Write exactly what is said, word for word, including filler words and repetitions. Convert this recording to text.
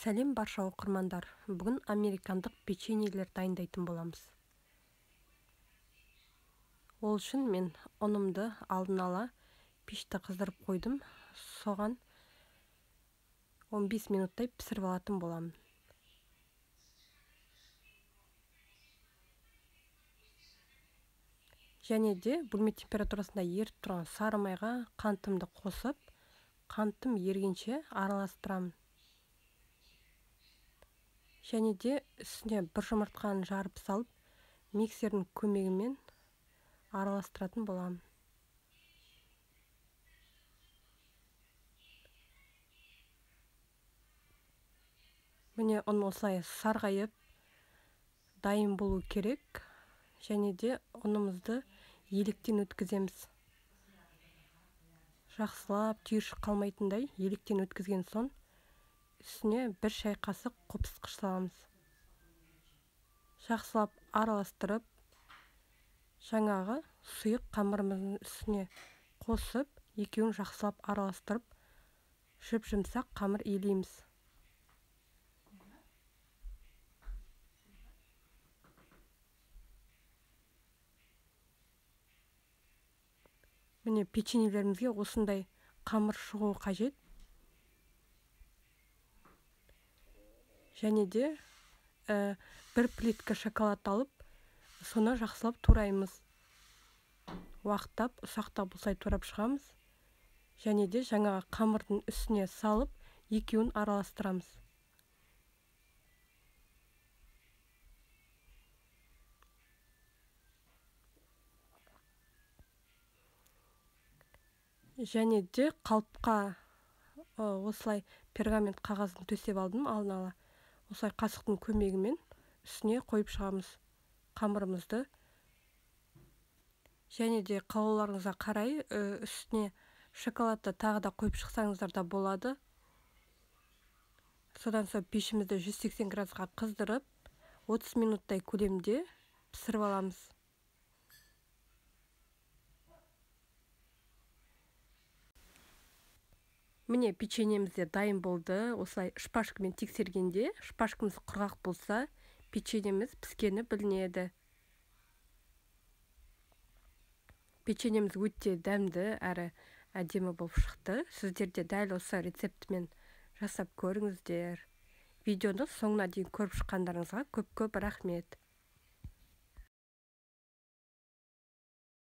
Сәлем барша оқырмандар. Бүгін американдық печеньелер дайындайтын боламыз. Ол үшін мен ұнымды алдын ала пешті қыздырып қойдым. Соған он бес минуттай пісіріп алатын боламын. Және де бөлме температурасында еріп тұрған сары майға қантымды қосып, қантым ергенше араластырамын. Және де үстіне бір жұмыртқаны жарып салып, миксердің көмегімен араластыратын боламын. Міне ұн осылай сарғайып дайын болу керек. Және де ұнымызды електен өткіземіз. Жақсылап түйіршік қалмайтындай електен өткізген соң үстіне бір шай қасық қопсытқыш саламыз. Жақсылап араластырып, жаңағы сұйық қамырымыздың үстіне қосып, екеуін жақсылап араластырып, жіп-жұмсақ қамыр илейміз. Міне печеньелерімізге осындай қамыр шығуы қажет. Және де ә, бір плитка шоколад алып, соны жақсылап тураймыз. Уақыттап, ұсақтап осылай турап шығамыз. Және де жаңағы қамырдың үстіне салып, екеуін араластырамыз. Және де қалыпқа осылай пергамент қағазын төсеп алдым алдын ала. Осылай қасықтың көмегімен үстіне қойып шығамыз қамырымызды. Және де қалауларыңызға қарай үстіне шоколадты тағы да қойып шықсаңыздар да болады. Содан соң пешімізді жүз сексен градусқа қыздырып, отыз минуттай көлемде пісіріп аламыз. Міне печеньеміз де дайын болды. Осылай шпажкамен тексергенде, шпажкамыз құрғақ болса, печеньеміз піскені білінеді. Печеньеміз өте дәмді әрі әдемі болып шықты. Сіздер де дәл осы рецептімен жасап көріңіздер. Видеоны соңына дейін көріп шыққандарыңызға көп-көп рахмет.